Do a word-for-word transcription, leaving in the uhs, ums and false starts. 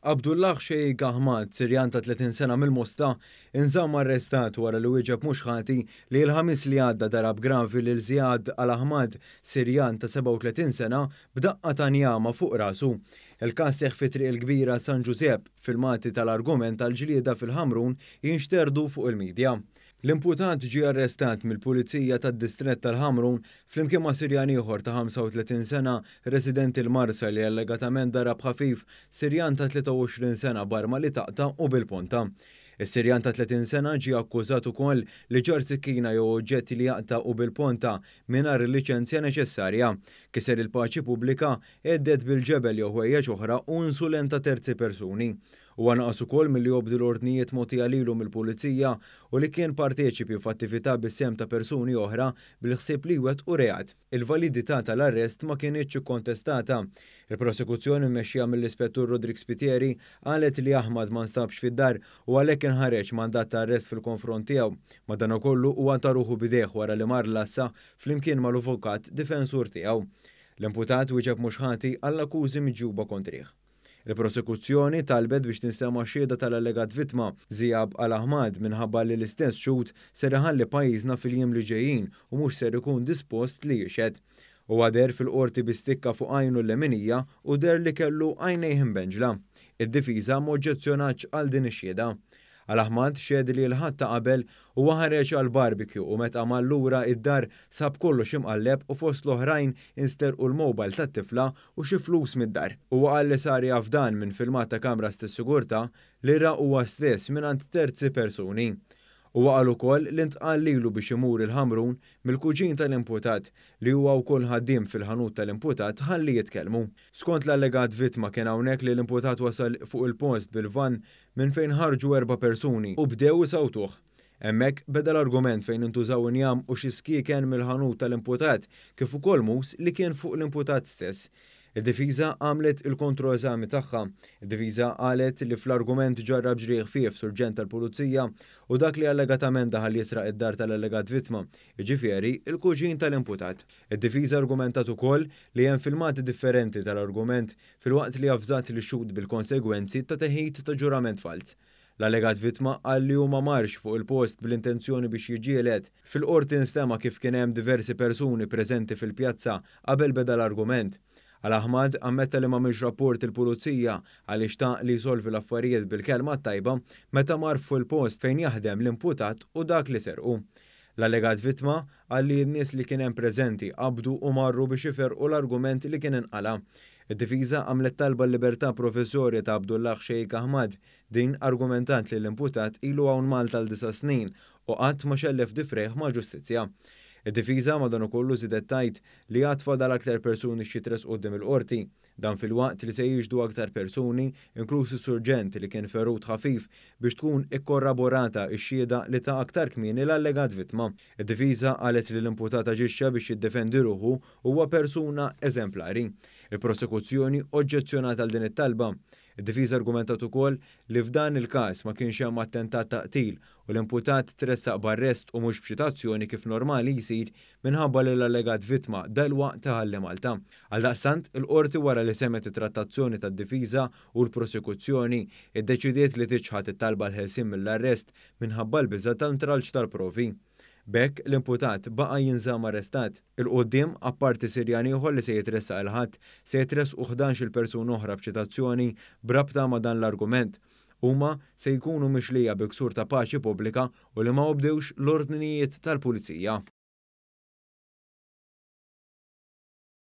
Abdullah Sheikh Ahmad, Sirjan ta' tletin sena mill-Mosta, inżamm arrestat wara li wieġeb mhux ħati li l-Ħamis li għadda darab gravi lil Ziad Al-Ahmad, Sirjan ta' sebgħa u tletin sena, b'daqqa ta' njama fuq rasu. Il-każ seħħ fi Triq il-Kbira San Ġużepp, filmati tal-argument tal-ġlieda fil-Ħamrun jinxterdu fuq il-midja. L-imputat ġie arrestat mill-Pulizija tad-Distrett tal-Ħamrun flimkien ma' Sirjan ieħor ta' ħamsa u tletin sena residenti l-Marsa li allegatament darab ħafif Sirjan ta' tlieta u għoxrin sena b'arma li taqta' u bil-ponta. Is-Sirjan ta' tletin sena ġie akkużat ukoll li ġarr sikkina jew oġġetti li jaqta' u bil-ponta mingħajr il-liċenzja neċessarja, kiser il-paċi pubblika, għedded bil-ġebel jew ħwejjeġ oħra u insulenta terzi persuni. Huwa naqas ukoll milli jobdi l-ordnijiet mogħtija lilu mill-Pulizija u li kien parteċipi f'attività bis-sehem ta' persuni oħra bil-ħsieb li jwettqu reat. Il-validità tal-arrest ma kinitx ikkontestata. Il-prosekuzzjoni mmexxija mill-Ispettur Roderick Spiteri qalet li Ahmad ma nstabx fid-dar u għalhekk inħareġ mandat ta' arrest fil-konfront tiegħu. Madankollu huwa ta ruħu b'idejh wara li mar l-għassa flimkien mal-avukat difensur tiegħu. L-imputat wieġeb mhux ħati għall-akkużi miġjuba kontrih. Il-prosekuzzjoni talbet biex tinstema' xhieda tal-allegat vittma, Ziab Al-Ahmad, minħabba li l-istess xhud ser iħalli pajjiżna fil-jiem li ġejjin u mhux ser ikun dispost li jixhed. Huwa deher fil-qorti bi stikka fuq għajnu l-leminija u deher li kellu għajnejh imbenġla. Id-difiża m'oġġezzjonatx għal din ix-xhieda. Al-Ahmad xehed li l-Ħadd ta' qabel huwa ħareġ għal barbecue u meta mar lura id-dar sab kollox imqalleb u fost l-oħrajn insterqu l-mobile tat-tifla u xi flus mid-dar. Huwa qal li sar jaf dan minn filmat ta' kameras tas-sigurtà li ra huwa stess mingħand terzi persuni. Huwa qal ukoll li ntqal lilu biex imur il-Ħamrun mill-kuġin tal-imputat li huwa wkoll ħaddiem fil-ħanut tal-imputat ħalli jitkellmu. Skont l-allegat vittma kien hawnhekk li l-imputat wasal fuq il-post bil-van minn fejn ħarġu erba' persuni u bdew isawtuh. Hemmhekk beda l-argument fejn intużaw injam u xi skieken mill-ħanut tal-imputat kif ukoll mus li kien fuq l-imputat stess. Id-difiża għamlet il-kontroeżami tagħha. Id-difiża qalet li fl-argument ġarrab ġrieħ ħfief surġent tal-pulizija u dak li allegatament daħal jisraq id-dar tal-allegat vittma, jiġifieri il-kuġin tal-imputat. Id-difiża argumentat ukoll li hemm filmati differenti tal-argument filwaqt li avżat li xhud bil-konsegwenzi ta' teħid ta' ġurament falz. L-allegat vittma qal li huma marx fuq il-post bl-intenzjoni biex jiġġieled. Fil-qorti nstema' kif kien hemm diversi persuni preżenti fil-pjazza qabel beda l-argument. Al-Ahmad ammetta li m'għamilx rapport il-pulizija għaliex xtaq li jsolvi l-affarijiet bil-kelma tajba meta mar fuq il-post fejn jaħdem l-imputat u dak li serqu. L-allegat vittma qal li n-nies li kien hemm preżenti qabdu u marru biex iferqu l-argument li kien inqala'. Id-difiża għamlet talba l-libertà provviżorja ta' Abdullah Sheikh Ahmad. Din argumentat li l-imputat ilu hawn Malta għal disa' snin u qatt ma xellef difrejh mal-ġustizzja. Id-difiża madankollu żiedet tgħid li għad fadal aktar persuni xi tressqu quddiem il-qorti. Dan filwaqt li se jiġdu aktar persuni, inkluż is-surġent li kien ferut ħafif, biex tkun ikkorraborata x-xhieda li ta' aktar kmieni l-allegat vittma. Id-difiża qalet li l-imputat aġixxa biex jiddefendi ruħu huwa persuna eżemplari. Il-prosekuzzjoni oġġezzjonat għal din it-talba. Id-difiża argumentat ukoll li f'dan il-każ ma kienx hemm attentat ta' qtil u l-imputat tressaq b'arrest u mhux b'ċitazzjoni kif normali jsir minħabba li l-allegat vittma dalwaqt taħalli Malta. Għaldaqstant, il-qorti wara li semgħet it-trattazzjoni tad-difiża u l-prosekuzzjoni iddeċidiet li tiċħad it-talba l-ħelsien mill-arrest minħabba l-biża' tal-intralċ tal-provi. B'hekk l-imputat baqa' jinżamm arrestat. Il-quddiem, apparti Sirjan ieħor li se jitressaq il-Ħadd, se jitressqu ħdax-il persuna oħra b'ċitazzjoni b'rabta ma' dan l-argument. Huma se jkunu mixlija bi ksur ta' paċi pubblika u li ma obdewx l-ordnijiet tal-pulizija.